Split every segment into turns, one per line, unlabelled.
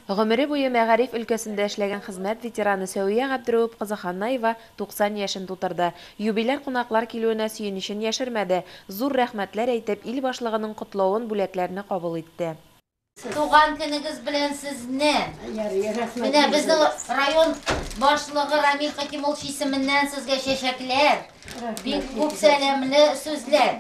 Гомере буе мәгариф өлкәсендә эшләгән хезмәт ветераны Сәвия Габдрәүп кызы Ханнаева 90 яшен тутырды. Юбиляр кунаклар килүенә сөенечен яшермәде, зур рәхмәтләр әйтеп, ил башлыгының котлавын, бүләкләрне кабул итте.
Туган көнегез белән сезне! Менә безнең район башлыгы Рамил Хәкимуллович исеменнән сезгә чәчәкләр, бик күп сәламле сүзләр.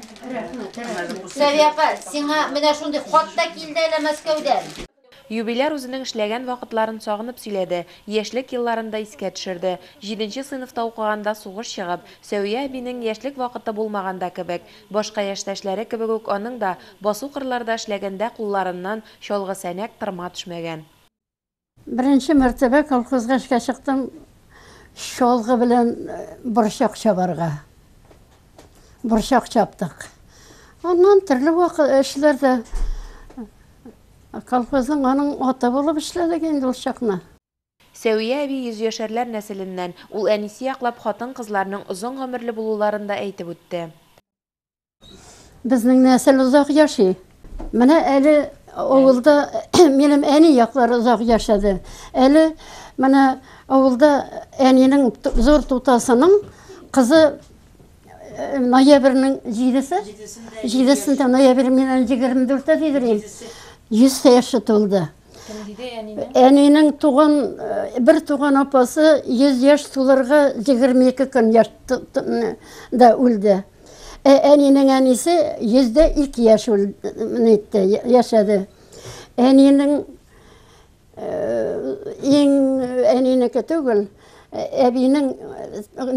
Сәвия апа, сиңа менә шундый хат та килде әле Мәскәүдән.
Юбиляр үзенең эшләгән вакытларын сагынып сөйләде, яшьлек елларын да искә төшерде. Җиденче сыйныфта укыганда сугыш чыгып, Сәвия әбинең яшьлек вакыты булмаган да кебек. Башка яшьтәшләре кебек үк аның да басу-кырларда эшләгәндә кулларыннан чалгы-сәнәк, тырма төшмәгән.
Беренче мәртәбә колхозга эшкә чыктым, чалгы белән борчак чабарга. Борчак чаптык. Аннан төрле вакыт эшләрдә колхозның аның аты булып эшләдек инде ул чакны.
Сәвия әби йөзьяшәрләр нәселеннән, ул әнисе яклап хатын-кызларның озын гомерле булуларын да әйтеп үтте.
Безнең нәсел озак яши. Менә әле авылда минем әни яклары озак яшәде. Әле менә авылда әнинең зур тутасының кызы ноябрьнең җидесе, җидесендә ноябрь миннән 24-тә дидер инде. 100 яше тулды.
Кем диде әнинең?
Әнинең туган бер туган апасы 100 яшь тулырга 22 көн яшь да үлде. Ә әнинең әнисе 102 яшь нитте, яшәде. Әнинең иң әнинеке түгел, әбинең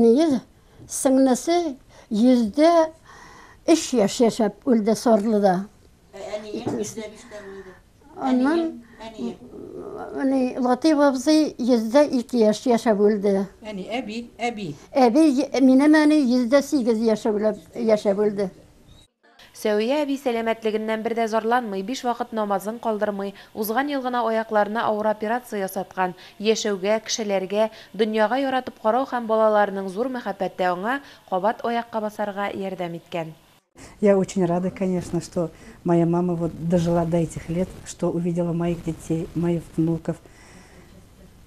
ние сеңлесе 103 яшь яшәп үлде Сарлыда.
Ә әниең 105-тә үлде.
Аннан ни Латыйп абзый 102 яшь яшәп үлде.
Әни, әби, әби.
Әби, минем әни 108 яшәп үлде.
Сәвия әби сәламәтлегеннән бер дә зарланмый, биш вакыт намазын калдырмый, узган ел гына аякларына авыр операция ясаткан. Яшәүгә, кешеләргә, дөньяга яратып карау һәм балаларының зур мәхәббәте аңа кабат аякка басарга ярдәм иткән.
Я очень рада, конечно, что моя мама вот дожила до этих лет, что увидела моих детей, моих внуков.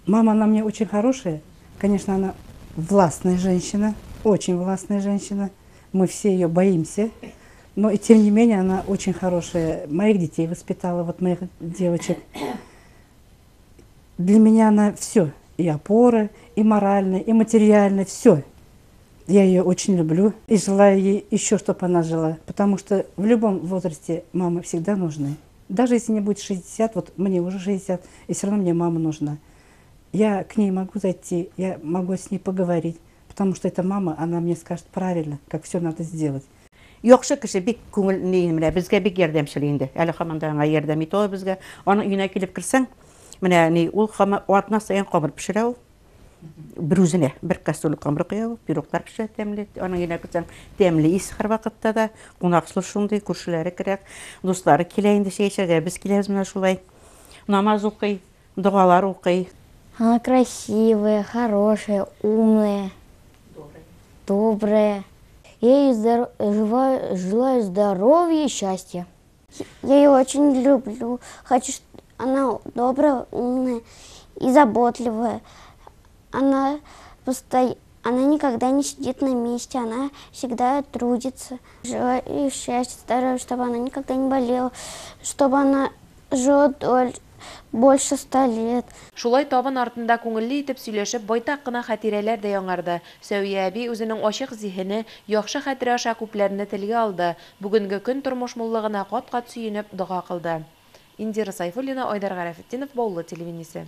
Мама, она мне очень хорошая. Конечно, она властная женщина, очень властная женщина. Мы все ее боимся. Но и тем не менее она очень хорошая. Моих детей воспитала, вот моих девочек. Для меня она все. И опора, и моральная, и материальная, все. Я ее очень люблю и желаю ей еще, чтобы она жила. Потому что в любом возрасте мамы всегда нужны. Даже если мне будет 60, вот мне уже 60, и все равно мне мама нужна. Я к ней могу зайти, я могу с ней поговорить, потому что это мама, она мне скажет правильно, как все надо сделать.
Яхшы кеше, бик күңел ни менә безгә бик ярдәмчел инде. Әле һаман да аңа ярдәм итә ул безгә. Аның өенә килеп керсәң, менә ни ул һаман атна саен камыр пешерә ул. Бер үзенә бер кастрюль камыр куя ул, пироглар пешерә тәмле. Аның өенә керсәң, тәмле ис һәрвакытта да. Кунакчыл шундый, күршеләре керә, дуслары килә инде чәй эчәргә, без киләбез менә шулай. Намаз укый, догалар укый.
Она красивая, хорошая, умная, добрая. Я ей желаю здоровья и счастья. Я ее очень люблю. Хочу, она добрая, умная и заботливая. Она никогда не сидит на месте, она всегда трудится. Желаю ей счастья, здоровья, чтобы она никогда не болела, чтобы она жила больше 100 лет.
Шулай табын артында күңелле итеп сөйләшеп, байтак кына хатирәләр дә яңарды. Сәвия әби үзенең ачык зиһене, яхшы хәтере аша күпләрне телгә алды. Бүгенге көн тормыш муллыгына кат-кат сөенеп дога кылды. Индира Сайфуллина, Айдар Гарәфетдинов, Баулы телевидениесе.